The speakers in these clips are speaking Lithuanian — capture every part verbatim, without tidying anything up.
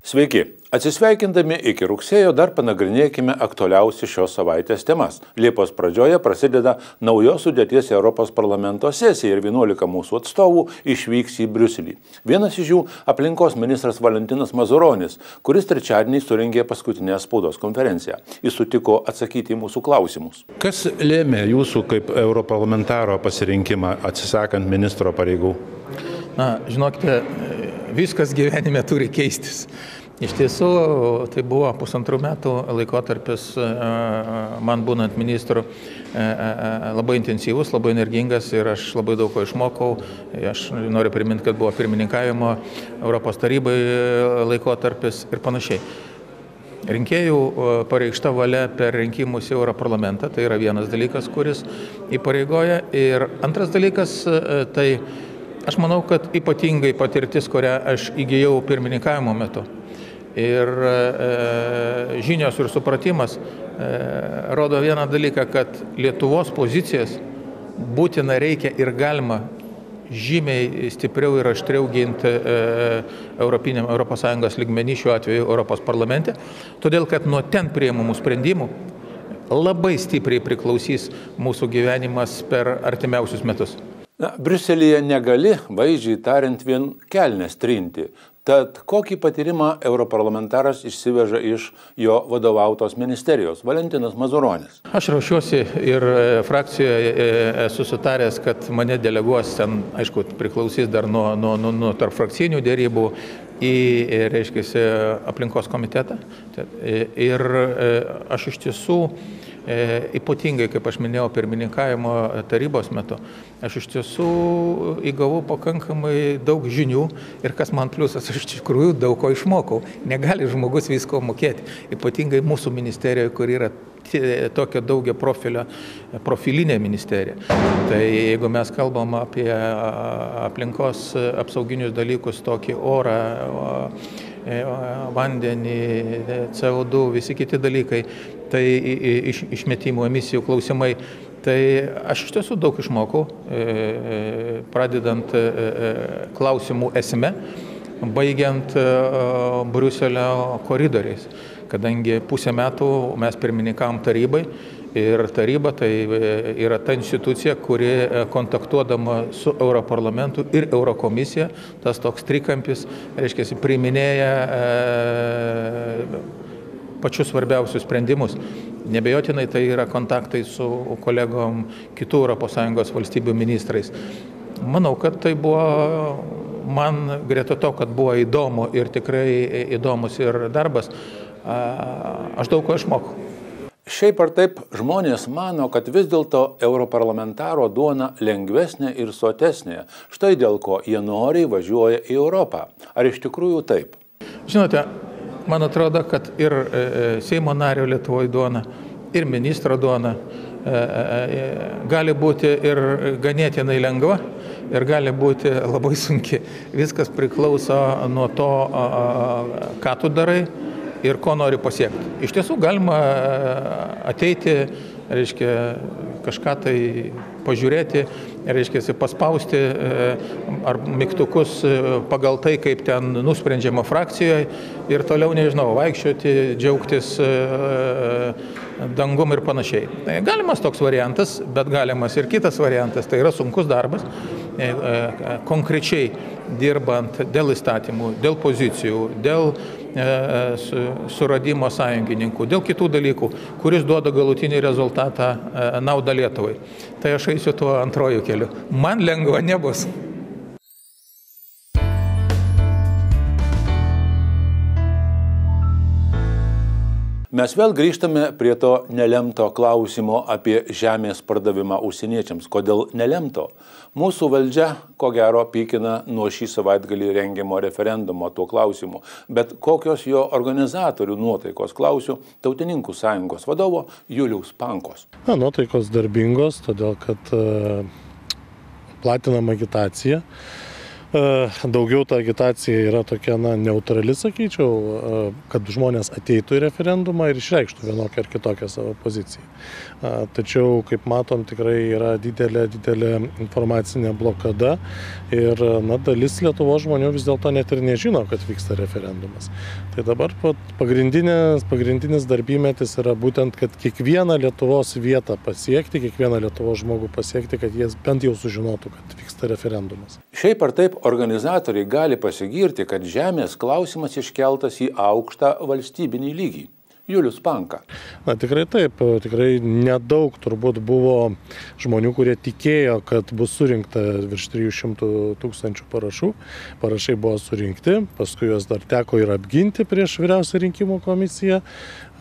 Sveiki! Atsisveikindami iki rugsėjo dar panagrinėkime aktualiausias šios savaitės temas. Liepos pradžioje prasideda naujos sudėties Europos parlamento sesija ir vienuolika mūsų atstovų išvyks į Briuselį. Vienas iš jų aplinkos ministras Valentinas Mazuronis, kuris trečiadienį surengė paskutinę spaudos konferenciją. Jis sutiko atsakyti į mūsų klausimus. Kas lėmė jūsų kaip europarlamentaro pasirinkimą atsisakant ministro pareigų? Na, žinokite, viskas gyvenime turi keistis. Iš tiesų, tai buvo pusantrų metų laikotarpis man būnant ministru labai intensyvus, labai energingas ir aš labai daug ko išmokau. Aš noriu priminti, kad buvo pirmininkavimo Europos tarybai laikotarpis ir panašiai. Rinkėjų pareikšta valia per rinkimus į Europarlamentą, tai yra vienas dalykas, kuris įpareigoja. Ir antras dalykas, tai aš manau, kad ypatingai patirtis, kurią aš įgijau pirmininkavimo metu. Ir e, žinios ir supratimas e, rodo vieną dalyką, kad Lietuvos pozicijas būtina reikia ir galima žymiai stipriau ir aštriau ginti e, Europiniam Europos Sąjungos lygmenį, šiuo atveju Europos parlamente, todėl kad nuo ten priimamų sprendimų labai stipriai priklausys mūsų gyvenimas per artimiausius metus. Na, Briuselyje negali, vaizdžiai tariant, vien kelnes trinti. Tad kokį patyrimą europarlamentaras išsiveža iš jo vadovautos ministerijos? Valentinas Mazuronis. Aš ruošiuosi ir frakcijoje esu sutaręs, kad mane deleguos ten, aišku, priklausys dar nuo, nuo, nuo, nuo tarp frakcijinių dėrybų į, reiškia, aplinkos komitetą. Ir aš iš tiesų E, ypatingai, kaip aš minėjau, pirmininkavimo tarybos metu, aš iš tiesų įgavau pakankamai daug žinių ir kas man pliusas, aš iš tikrųjų daug ko išmokau. Negali žmogus visko mokėti, ypatingai mūsų ministerijoje, kur yra tokia daugia profilio, profilinė ministerija. Tai jeigu mes kalbam apie aplinkos apsauginius dalykus, tokį orą, vandenį, C O du, visi kiti dalykai, tai iš, išmetimų emisijų klausimai, tai aš iš tiesų daug išmokau, pradedant klausimų esme, baigiant Briuselio koridoriais, kadangi pusę metų mes pirmininkavom tarybai ir taryba tai yra ta institucija, kuri kontaktuodama su Europarlamentu ir Eurokomisija, tas toks trikampis, reiškia, priiminėja pačius svarbiausius sprendimus. Nebejotinai tai yra kontaktai su kolegom kitų Europos Sąjungos valstybių ministrais. Manau, kad tai buvo man greta to, kad buvo įdomu ir tikrai įdomus ir darbas, aš daug ko išmokau. Šiaip ar taip, žmonės mano, kad vis dėlto europarlamentaro duona lengvesnė ir sotesnė. Štai dėl ko jie noriai važiuoja į Europą. Ar iš tikrųjų taip? Žinote, man atrodo, kad ir Seimo nario Lietuvoje duona, ir ministro duona gali būti ir ganėtinai lengva, ir gali būti labai sunki. Viskas priklauso nuo to, ką tu darai ir ko nori pasiekti. Iš tiesų galima ateiti, reiškia, kažką tai pažiūrėti, reiškia, paspausti ar mygtukus pagal tai, kaip ten nusprendžiama frakcijoje ir toliau, nežinau, vaikščioti, džiaugtis dangum ir panašiai. Galimas toks variantas, bet galimas ir kitas variantas, tai yra sunkus darbas, konkrečiai dirbant dėl įstatymų, dėl pozicijų, dėl suradimo sąjungininkų, dėl kitų dalykų, kuris duoda galutinį rezultatą naudą Lietuvai. Tai aš eisiu tuo antrojų keliu. Man lengva nebus. Mes vėl grįžtame prie to nelemto klausimo apie žemės pardavimą užsieniečiams. Kodėl nelemto? Mūsų valdžia, ko gero, pykina nuo šį savaitgalį rengiamo referendumo tuo klausimu. Bet kokios jo organizatorių nuotaikos, klausiu Tautininkų sąjungos vadovo Juliaus Pankos. Na, nuotaikos darbingos, todėl kad e, platinama agitacija. Daugiau ta agitacija yra tokia, na, neutrali, sakyčiau, kad žmonės ateitų į referendumą ir išreikštų vienokią ar kitokią savo poziciją. Tačiau, kaip matom, tikrai yra didelė, didelė informacinė blokada ir, na, dalis Lietuvos žmonių vis dėlto net ir nežino, kad vyksta referendumas. Tai dabar pagrindinis, pagrindinis darbymetis yra būtent, kad kiekvieną Lietuvos vietą pasiekti, kiekvieną Lietuvos žmogų pasiekti, kad jie bent jau sužinotų, kad vyksta referendumas. Šiaip ar taip organizatoriai gali pasigirti, kad žemės klausimas iškeltas į aukštą valstybinį lygį. Julius Panka. Na, tikrai taip, tikrai nedaug turbūt buvo žmonių, kurie tikėjo, kad bus surinkta virš trijų šimtų tūkstančių parašų. Parašai buvo surinkti, paskui juos dar teko ir apginti prieš Vyriausią rinkimų komisiją,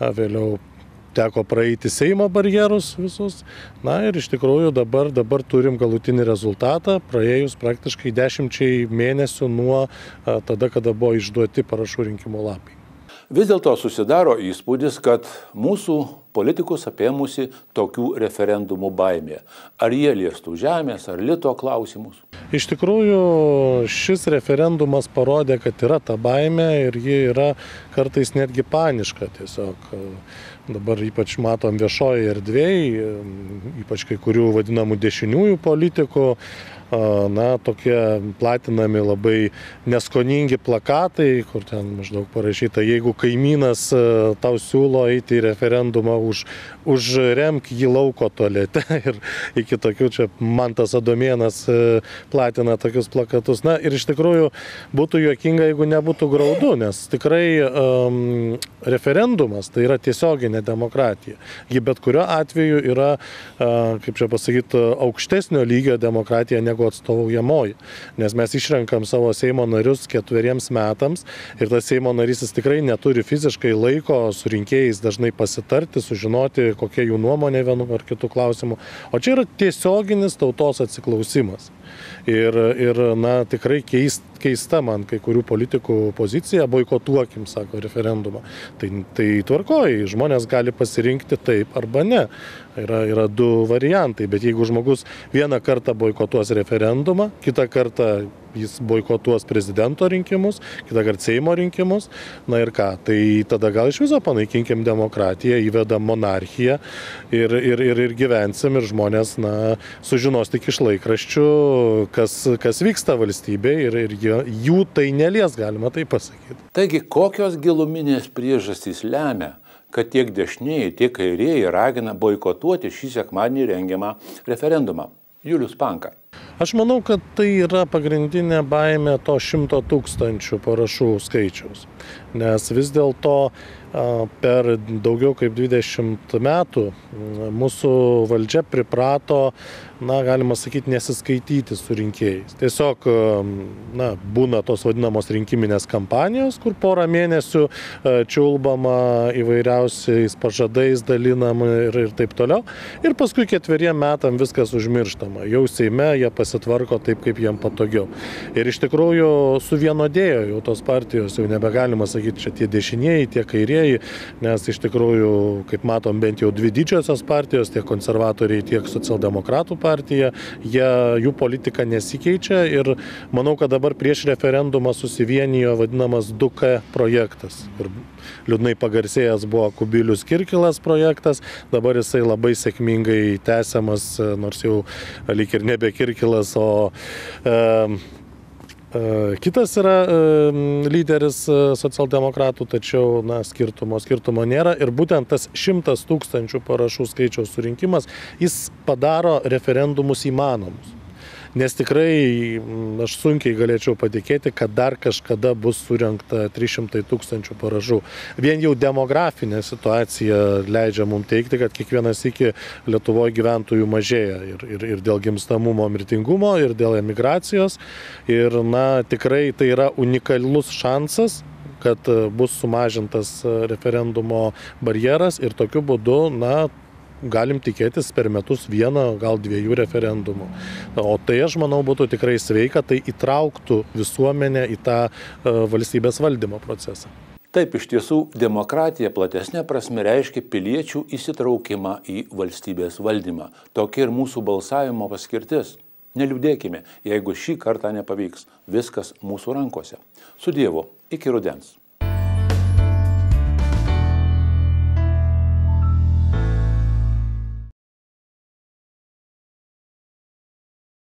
vėliau teko praeiti Seimo barjerus visus. Na ir iš tikrųjų dabar, dabar turim galutinį rezultatą, praėjus praktiškai dešimčiai mėnesių nuo tada, kada buvo išduoti parašų rinkimo lapai. Vis dėlto susidaro įspūdis, kad mūsų politikus apėmusi tokių referendumų baimė. Ar jie liestų žemės, ar lito klausimus? Iš tikrųjų, šis referendumas parodė, kad yra ta baimė ir ji yra kartais netgi paniška. Tiesiog dabar ypač matom viešoje erdvėje, ypač kai kurių vadinamų dešiniųjų politikų, na, tokie platinami labai neskoningi plakatai, kur ten maždaug parašyta, jeigu kaimynas tau siūlo eiti į referendumą, už, užremk jį lauko tualete. Ir iki tokių čia Mantas Adomėnas platina tokius plakatus. Na ir iš tikrųjų būtų juokinga, jeigu nebūtų graudu, nes tikrai um, referendumas tai yra tiesioginė demokratija. Ji bet kuriuo atveju yra, uh, kaip čia pasakyti, aukštesnio lygio demokratija negu atstovaujamoji. Nes mes išrenkam savo Seimo narius ketveriems metams ir tas Seimo narys jis tikrai neturi fiziškai laiko su rinkėjais dažnai pasitarti, sužinoti, kokia jų nuomonė vienu ar kitų klausimų. O čia yra tiesioginis tautos atsiklausimas. Ir, ir na, tikrai keist, keista man kai kurių politikų pozicija, boikotuokim, sako, referendumą. Tai, tai tvarkoji, žmonės gali pasirinkti taip arba ne. Yra, yra du variantai, bet jeigu žmogus vieną kartą boikotuos referendumą, kitą kartą jis boikotuos prezidento rinkimus, kitą kartą Seimo rinkimus, na ir ką, tai tada gal iš viso panaikinkim demokratiją, įvedam monarchiją ir, ir, ir, ir gyvensim ir žmonės, na, sužinos tik iš laikraščių, kas, kas vyksta valstybėje ir, ir jų tai nelies, galima tai pasakyti. Taigi, kokios giluminės priežastys lemia, kad tiek dešinieji, tiek kairieji ragina boikotuoti šį sekmadienį rengiamą referendumą? Julius Panka. Aš manau, kad tai yra pagrindinė baimė to šimto tūkstančių parašų skaičiaus. Nes vis dėlto per daugiau kaip dvidešimt metų mūsų valdžia priprato, na, galima sakyti, nesiskaityti su rinkėjais. Tiesiog, na, būna tos vadinamos rinkiminės kampanijos, kur porą mėnesių čiulbama įvairiausiais pažadais, dalinama ir, ir taip toliau. Ir paskui ketveriem metam viskas užmirštama. Jau Seime jie pasitvarko taip, kaip jiem patogiau. Ir iš tikrųjų suvienodėjo jau tos partijos, jau nebegalima sakyti, čia tie dešinieji, tie kairieji, nes iš tikrųjų, kaip matom, bent jau dvi didžiosios partijos, tiek konservatoriai, tiek socialdemokratų partija, jie, jų politika nesikeičia ir manau, kad dabar prieš referendumą susivienijo vadinamas du K projektas. Ir liūdnai pagarsėjęs buvo Kubilius Kirkilas projektas, dabar jisai labai sėkmingai tęsiamas, nors jau lyg ir nebe Kirkilas, o e, kitas yra lyderis socialdemokratų, tačiau, na, skirtumo, skirtumo nėra. Ir būtent tas šimtas tūkstančių parašų skaičiaus surinkimas, jis padaro referendumus įmanomus. Nes tikrai aš sunkiai galėčiau patikėti, kad dar kažkada bus surinkta trys šimtai tūkstančių parašų. Vien jau demografinė situacija leidžia mums teikti, kad kiekvienas iki Lietuvoje gyventojų mažėja ir, ir, ir dėl gimstamumo, mirtingumo, ir dėl emigracijos. Ir, na, tikrai tai yra unikalus šansas, kad bus sumažintas referendumo barjeras ir tokiu būdu, na, galim tikėtis per metus vieno, gal dviejų referendumų. O tai, aš manau, būtų tikrai sveika, tai įtrauktų visuomenę į tą valstybės valdymo procesą. Taip, iš tiesų, demokratija platesnė prasme reiškia piliečių įsitraukimą į valstybės valdymą. Tokia ir mūsų balsavimo paskirtis. Neliūdėkime, jeigu šį kartą nepavyks. Viskas mūsų rankose. Su Dievu, iki rudens.